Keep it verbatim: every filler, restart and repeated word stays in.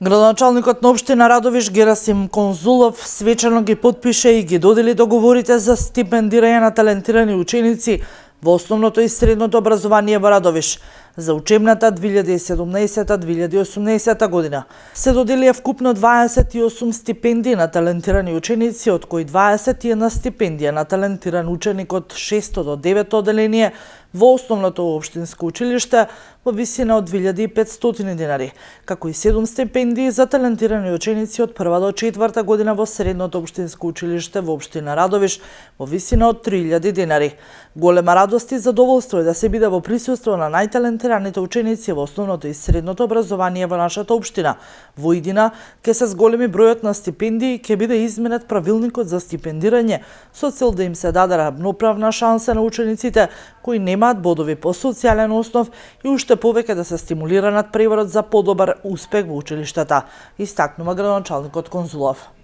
Градоначалникот на општина Радовиш Герасим Конзулов свечено ги потпише и ги додели договорите за стипендирање на талентирани ученици во основното и средното образование во Радовиш за учебната две илјади и седумнаесета две илјади и осумнаесета година. Се доделија вкупно дваесет и осум стипендии на талентирани ученици, од кои дваесет и една стипендија на талентиран ученик од шесто до девето оделение во основното општинско училиште во висина од две илјади и петстотини динари, како и седум стипендии за талентирани ученици од прва до четврта година во средното општинско училиште во општина Радовиш во висина од три илјади динари. Голема радост и задоволство е да се биде во присуство на најталентираните ученици во основното и средното образование во нашата општина. Во иднина ќе се зголеми бројот на стипендии и ќе биде изменет правилникот за стипендирање со цел да им се даде равноправна шанса на учениците кои немаат бодови по социјален основ и уште повеќе да се стимулира надпреварот за подобар успех во училиштата, истакнува градоначалникот Конзулов.